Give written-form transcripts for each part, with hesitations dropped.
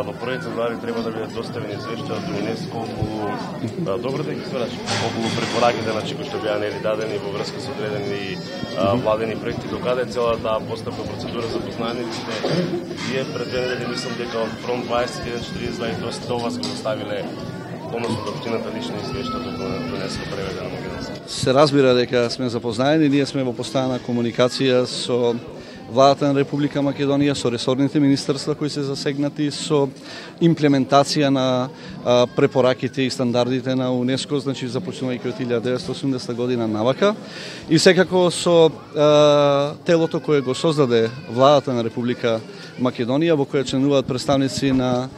во првите глави треба да бидат доставени извештања од ЮНЕСКО добро да ги свараш околу препораките кои што беа нели дадени во врска со одредени владени проекти, докаде е цела таа постапка процедура за познаниците. Вие пред 2 недели мислам дека од Фронт 2142 до вас го доставиле односно доктрината лична извештања до ЮНЕСКО преведено на македонски. Се разбира дека сме запознаени, ние сме во постојана комуникација со Владата на Република Македонија, со ресорните министерства кои се засегнати со имплементација на препораките и стандардите на УНЕСКО, значи започнувајќи од 1980 година навака, и секако со телото кое го создаде Владата на Република Македонија, во кое членуваат представници на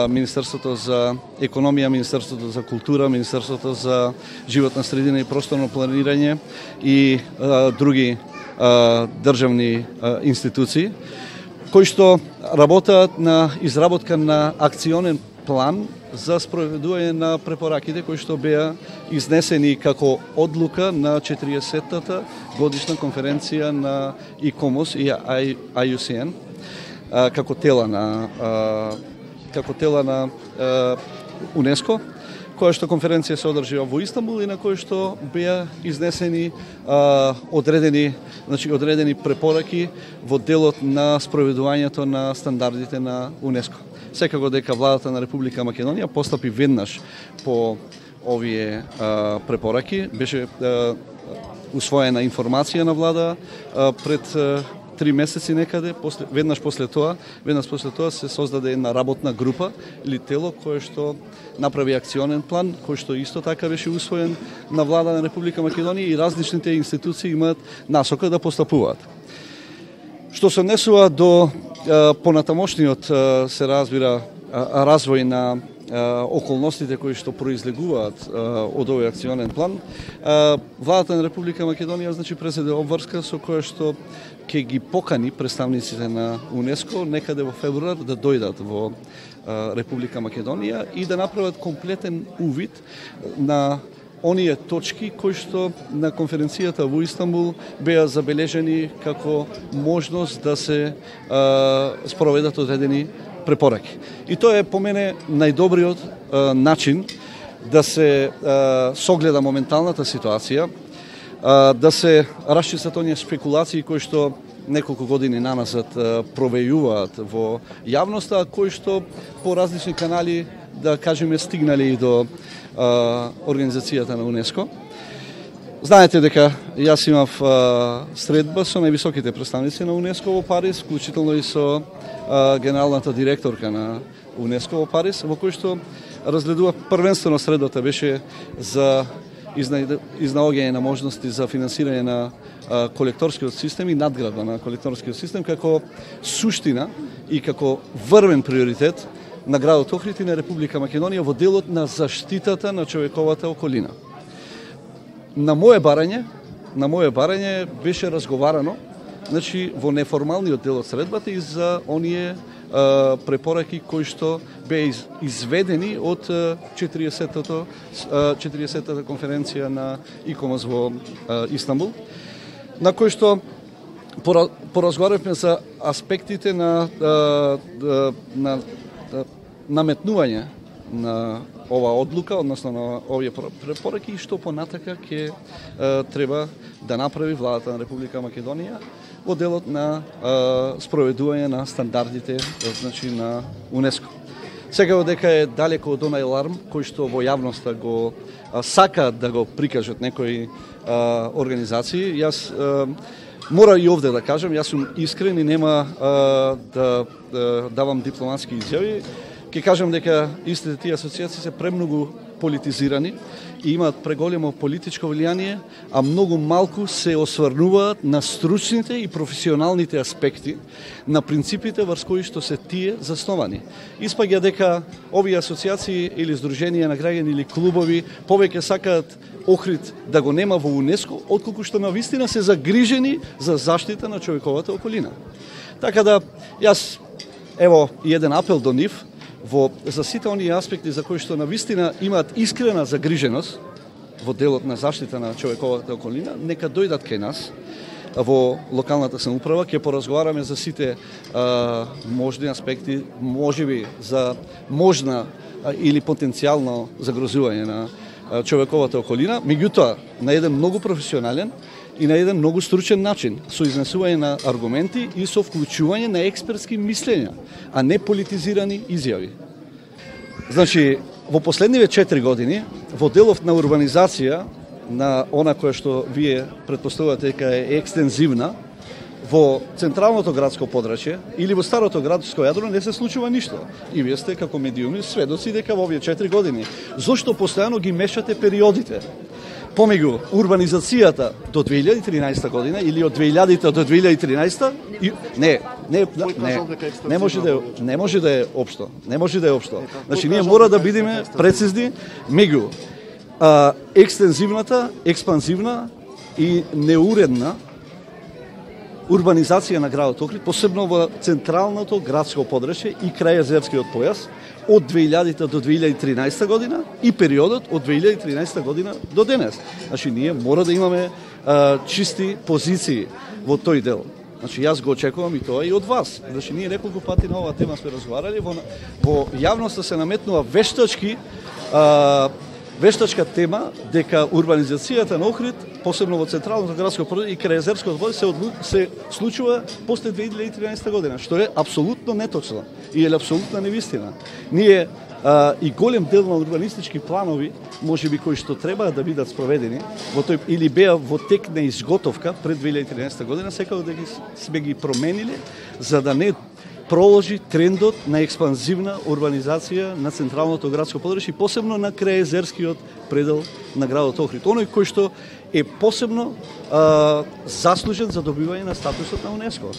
Министерството за економија, Министерството за култура, Министерството за животна средина и просторно планирање и други државни институции, кои што работат на изработка на акционен план за спроведување на препораките кои што беа изнесени како одлука на 40-та годишна конференција на ИКОМОС и IUCN како тела на УНЕСКО, која што конференција се одржува во Истанбул и на која што беа изнесени одредени препораки во делот на спроведувањето на стандардите на УНЕСКО. Секако дека Владата на Република Македонија постапи веднаш по овие препораки, беше усвоена информација на влада пред 3 месеци некаде, веднаш после тоа се создаде една работна група или тело кое што направи акционен план, кој што исто така беше усвоен на Влада на Република Македонија и различните институции имаат насока да постапуваат. Што се однесува до понатамошниот, се разбира, развој на околностите кои што произлегуваат од овој акционен план, Владата на Република Македонија значи презеде обврска со која што ќе ги покани представниците на УНЕСКО некаде во февруар да дојдат во Република Македонија и да направат комплетен увид на оние точки кои што на конференцијата во Истанбул беа забележени како можност да се спроведат одредени препораки. И тоа е по мене најдобриот начин да се согледа моменталната ситуација, да се расчистат оние спекулации кои што неколку години наназад провејуваат во јавноста, кои што по различни канали, да кажеме, стигнали и до организацијата на УНЕСКО. Знаете дека јас имав средба со највисоките представници на УНЕСКО во Париз, вклучително и со генералната директорка на УНЕСКО во Париз, во кој што разгледува првенствено средбата беше за изнаоѓање на можности за финансирање на колекторскиот систем и надградба на колекторскиот систем како суштина и како врвен приоритет на градот Охрид и на Република Македонија во делот на заштитата на човековата околина. На моје барање беше разговарано, значи во неформалниот дел од средбата и за оние препораки кои што беа изведени од 40-та конференција на ИКОМОС во Истанбул, на кој што поразговаравме за аспектите на наметнување на ова одлука, односно на овие препораки и што понатака ќе треба да направи Владата на Република Македонија во делот на спроведување на стандардите, значи на УНЕСКО. Секако дека е далеко од онај аларм кој што во јавноста го сакаат да го прикажат некои организации. Јас мора и овде да кажам, јас сум искрен и нема да давам дипломатски изјави. Ке кажам дека истите тие асоциации се премногу политизирани и имаат преголемо политичко влијание, а многу малку се осврнуваат на стручните и професионалните аспекти на принципите врз кои што се тие засновани. Испаѓа дека овие асоциации или здруженија на граѓани или клубови повеќе сакаат Охрид да го нема во УНЕСКО, отколку што навистина се загрижени за заштита на човековата околина. Така да, јас, ево, еден апел до нив, за сите оние аспекти за кои што навистина имаат искрена загриженост во делот на заштита на човековата околина, нека дојдат кај нас, во локалната самоуправа, ќе поразговараме за сите можни аспекти, можеби за можна или потенцијално загрозување на човековата околина, меѓутоа на еден многу професионален и на еден многу стручен начин, со изнесување на аргументи и со вклучување на експертски мислења, а не политизирани изјави. Значи, во последниве 4 години, во делов на урбанизација, на она која што вие претпоставувате дека е екстензивна, во централното градско подрачје или во старото градско јадро не се случува ништо. И вие сте како медиуми сведоци дека во овие 4 години. Зошто постојано ги мешате периодите? Помеѓу урбанизацијата до 2013 година или од 2000 до 2013 не може да е општо. Не може да е општо. Значи ние мора да бидеме прецизни меѓу екстензивната, експанзивна и неуредна урбанизација на градот Охрид, посебно во централното градско подрачје и крај Езерскиот појас од 2000 до 2013 година и периодот од 2013 година до денес. Значи ние мора да имаме чисти позиции во тој дел. Значи јас го очекувам и тоа и од вас. Значи ние неколку пати на оваа тема сме разговарали, во јавноста се наметнува вештачка тема дека урбанизацијата на Охрид, посебно во централното градско подрачје и крај Езерскиот појас се случува после 2013 година, што е апсолутно неточно и е апсолутна невистина. Ние и голем дел на урбанистички планови, можеби кои што треба да бидат спроведени во тој или беа во тек на изготовка пред 2013 година, секако да сме ги промениле за да не проложи трендот на експанзивна урбанизација на централното градско подрачје и посебно на крајезерскиот предел на градот Охрид. Оној кој што е посебно заслужен за добивање на статусот на УНЕСКО.